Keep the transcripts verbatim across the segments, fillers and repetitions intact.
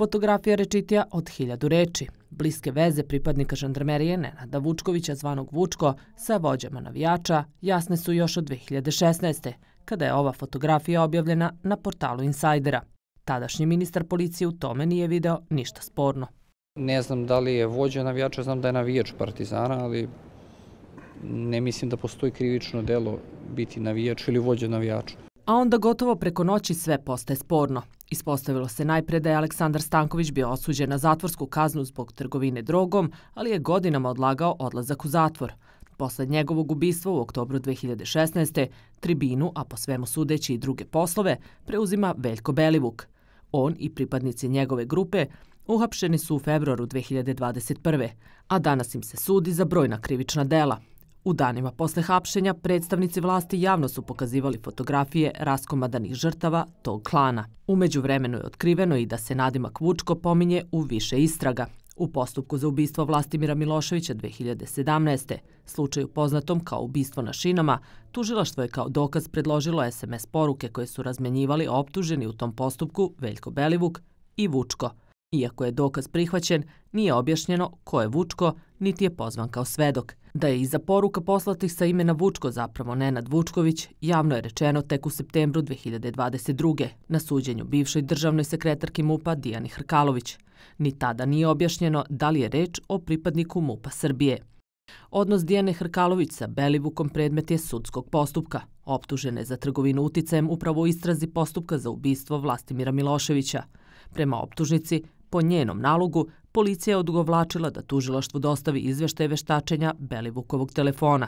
Fotografija rečitija od hiljadu reči. Bliske veze pripadnika žandarmerije Nenada Vučkovića zvanog Vučko sa vođama navijača jasne su još od dve hiljade šesnaeste. kada je ova fotografija objavljena na portalu Insajdera. Tadašnji ministar policije u tome nije video ništa sporno. Ne znam da li je vođa navijača, znam da je navijač Partizana, ali ne mislim da postoji krivično delo biti navijač ili vođa navijača. A onda gotovo preko noći sve postaje sporno. Ispostavilo se najpre da je Aleksandar Stanković bio osuđen na zatvorsku kaznu zbog trgovine drogom, ali je godinama odlagao odlazak u zatvor. Posle njegovog ubistva u oktobru dve hiljade šesnaeste. tribinu, a po svemu sudeći i druge poslove, preuzima Veljko Belivuk. On i pripadnici njegove grupe uhapšeni su u februaru dve hiljade dvadeset prve. a danas im se sudi za brojna krivična dela. U danima posle hapšenja predstavnici vlasti javno su pokazivali fotografije raskomadanih žrtava tog klana. U međuvremenu je otkriveno i da se nadimak Vučko pominje u više istraga. U postupku za ubistvo Vlastimira Miloševića dve hiljade sedamnaeste. slučaju poznatom kao ubistvo na šinama, tužilaštvo je kao dokaz predložilo es em es poruke koje su razmenjivali optuženi u tom postupku Veljko Belivuk i Vučko. Iako je dokaz prihvaćen, nije objašnjeno ko je Vučko, niti je pozvan kao svedok. Da je iza poruka poslatih sa imena Vučko zapravo Nenad Vučković, javno je rečeno tek u septembru dve hiljade dvadeset druge. na suđenju bivšoj državnoj sekretarki MUP-a Dijani Hrkalović. Ni tada nije objašnjeno da li je reč o pripadniku MUP-a Srbije. Odnos Dijane Hrkalović sa Belivukom predmet je sudskog postupka. Optužene za trgovinu uticajem upravo u istrazi postupka za ubistvo Vlastimira Miloševića. Prema optužnici, po njenom nalogu, policija je odugovlačila da tužilaštvu dostavi izveštaj veštačenja Belivukovog telefona.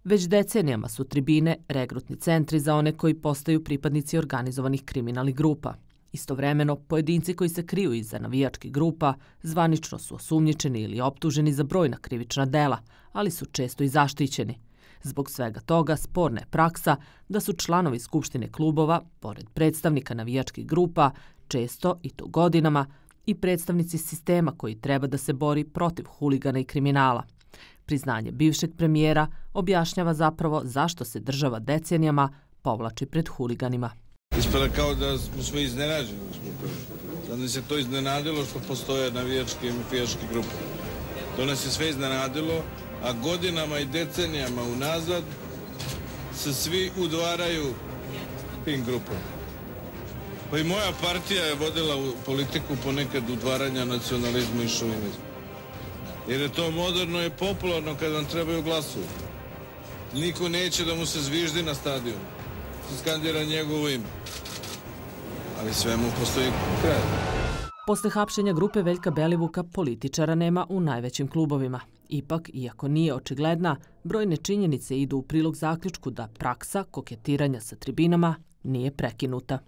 Već decenijama su tribine regrutni centri za one koji postaju pripadnici organizovanih kriminalnih grupa. Istovremeno, pojedinci koji se kriju iza navijačkih grupa zvanično su osumnjičeni ili optuženi za brojna krivična dela, ali su često i zaštićeni. Zbog svega toga sporna je praksa da su članovi skupštine klubova, pored predstavnika navijačkih grupa, često i to godinama, i predstavnici sistema koji treba da se bori protiv huligana i kriminala. Priznanje bivšeg premijera objašnjava zapravo zašto se država decenijama povlači pred huliganima. Ispada kao da smo sve iznenađeni. Da nas je to iznenadilo što postoje navijačke i mafijaške grupe. To nas je sve iznenadilo, a godinama i decenijama unazad se svi udvaraju tim grupama. Pa i moja partija je vodila politiku ponekad udvaranja nacionalizmu i šovinizmu. Jer je to moderno i popularno kad vam trebaju glasovi. Niko neće da mu se zviždi na stadionu. Skandira njegovo ime. Ali svemu postoji kraj. Posle hapšenja grupe Veljka Belivuka političara nema u najvećim klubovima. Ipak, iako nije očigledna, brojne činjenice idu u prilog zaključku da praksa koketiranja sa tribinama nije prekinuta.